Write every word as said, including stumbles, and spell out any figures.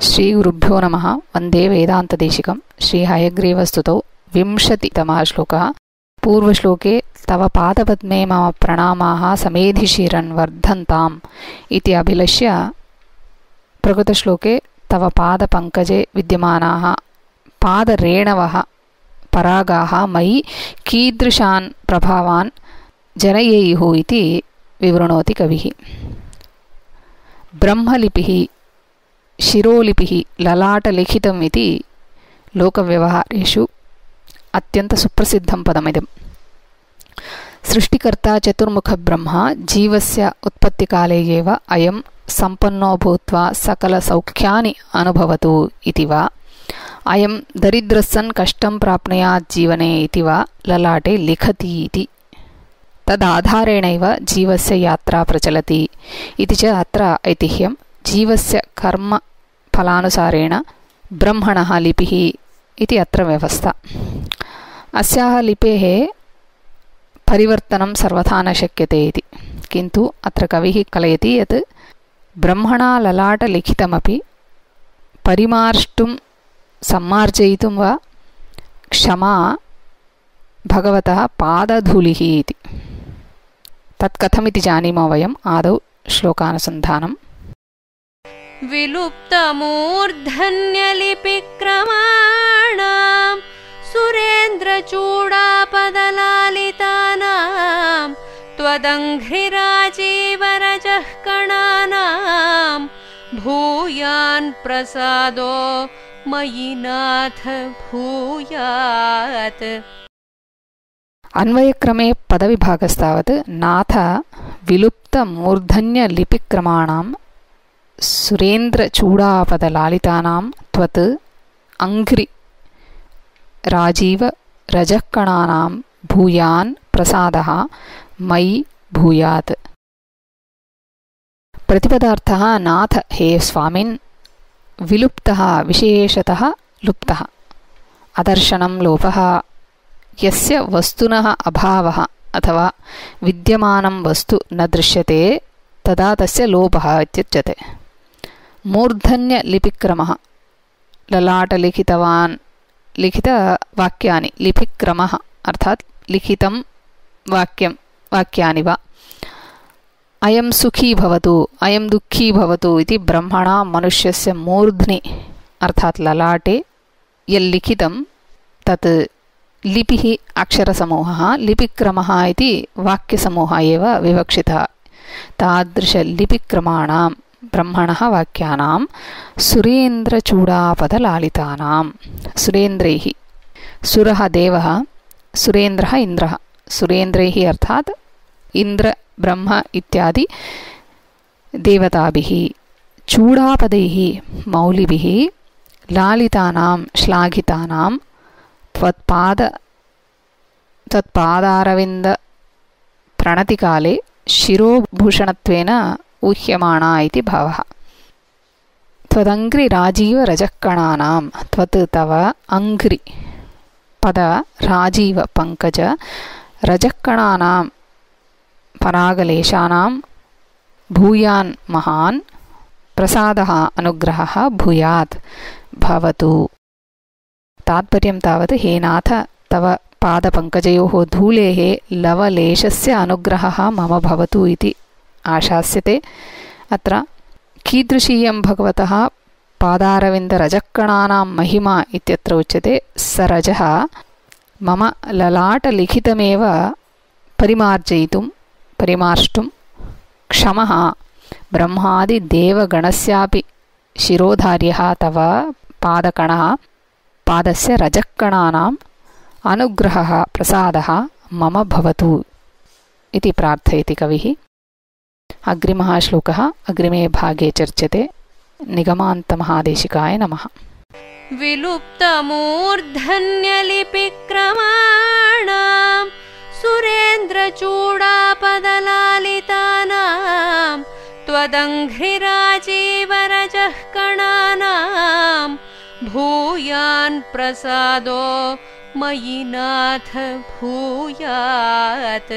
श्रीगुरुभ्यो नमः। वन्दे वेदान्तदेशिकं। श्रीहयग्रीवस्तुतौ विंशतितमः श्लोकः। पूर्वश्लोके तव पादपद्मे मम प्रणामाः समेधिशिरन् वर्धन्ताम् इति अभिलष्य प्रकृतश्लोके तव पादपङ्कजे विद्यमानाः पादरेणवः परागाः मयि कीदृशान् प्रभावान् जनयेयुः इति विवृणोति कविः। ब्रह्मलिपिः शिरोलिपिः ललाटलिखितम् इति लोकव्यवहारेषु अत्यन्तसुप्रसिद्धं पदमिदम्। सृष्टिकर्ता चतुर्मुखब्रह्मा जीवस्य उत्पत्तिकाले एव अयं सम्पन्नो भूत्वा सकलसौख्यानि अनुभवतु इति वा, अयं दरिद्रस्सन् कष्टं प्राप्नुयात् जीवने इति वा ललाटे लिखति इति। तदाधारेणैव जीवस्य यात्रा प्रचलति इति च अत्र ऐतिह्यं। जीवस्य कर्म फलानुसारेण ब्रह्मणः लिपिः इति अत्र व्यवस्था। अस्याः लिपेः परिवर्तनं सर्वथा न शक्यते इति, किन्तु अत्र कविः कलयति यत् ब्रह्मणा ललाटलिखितमपि परिमार्ष्टुं सम्मार्जयितुं वा क्षमा भगवतः पादधूलिः इति। तत् कथमिति जानीमो वयम्। आदौ श्लोकानुसन्धानम्। विलुप्तमूर्धन्यलिपिक्रमाणां सुरेन्द्रचूडापदलालितानां त्वदङ्घ्रिराजीवरजः कणानां भूयान् प्रसादो मयि नाथ भूयात्। अन्वयक्रमे पदविभागस्तावत् नाथ विलुप्तमूर्धन्यलिपिक्रमाणां सुरेन्द्रचूडापदलालितानां त्वत् अङ्घ्रि राजीव रजःकणानां भूयान् प्रसादः मयि भूयात्। प्रतिपदार्थः नाथ हे स्वामिन्, विलुप्तः विशेषतः लुप्तः, अदर्शनं लोपः, यस्य वस्तुनः अभावः अथवा विद्यमानं वस्तु न दृश्यते तदा तस्य लोपः इत्युच्यते। मूर्धन्यलिपिक्रमः ललाटलिखितवान् लिखितवाक्यानि, लिपिक्रमः अर्थात् लिखितं वाक्यं वाक्यानि वा। अयं सुखी भवतु अयं दुःखी भवतु इति ब्रह्मणा मनुष्यस्य मूर्ध्नि अर्थात् ललाटे यल्लिखितं तत् लिपिः अक्षरसमूहः, लिपिक्रमः इति वाक्यसमूहः एव विवक्षितः। तादृशलिपिक्रमाणां ब्रह्मणः वाक्यानां सुरेन्द्रचूडापदलालितानां, सुरेन्द्रैः, सुरः देवः, सुरेन्द्रः इन्द्रः, सुरेन्द्रैः अर्थात् इन्द्र ब्रह्म इत्यादि देवताभिः, चूडापदैः मौलिभिः, लालितानां श्लाघितानां त्वत्पाद त्वत्पादारविन्द प्रणतिकाले शिरोभूषणत्वेन ऊह्यमाणा इति भावः। त्वदङ्घ्रि राजीव रजःकणानां, त्वत् तव अङ्घ्रि पद राजीव पङ्कज रजःकणानां परागलेशानां भूयान् महान् प्रसादः अनुग्रहः भूयात् भवतु। तात्पर्यं तावत् हे नाथ तव पादपङ्कजयोः धूलेः लवलेशस्य अनुग्रहः मम भवतु इति आशास्यते। अत्र कीदृशीयं भगवतः पादारविन्दरजःकणानां महिमा इत्यत्र उच्यते। स रजः मम ललाटलिखितमेव परिमार्जयितुं परिमार्ष्टुं क्षमः ब्रह्मादिदेवगणस्यापि शिरोधार्यः तव पादकणः पादस्य रजःकणानाम् अनुग्रहः प्रसादः मम भवतु इति प्रार्थयति कविः। अग्रिमः श्लोकः अग्रिमे भागे चर्च्यते। निगमान्तमहादेशिकाय नमः। विलुप्तमूर्धन्यलिपिक्रमाणां सुरेन्द्रचूडापदलालितानां त्वदङ्घ्रिराजीवरजः कणानां भूयान् प्रसादो मयि नाथ भूयात्।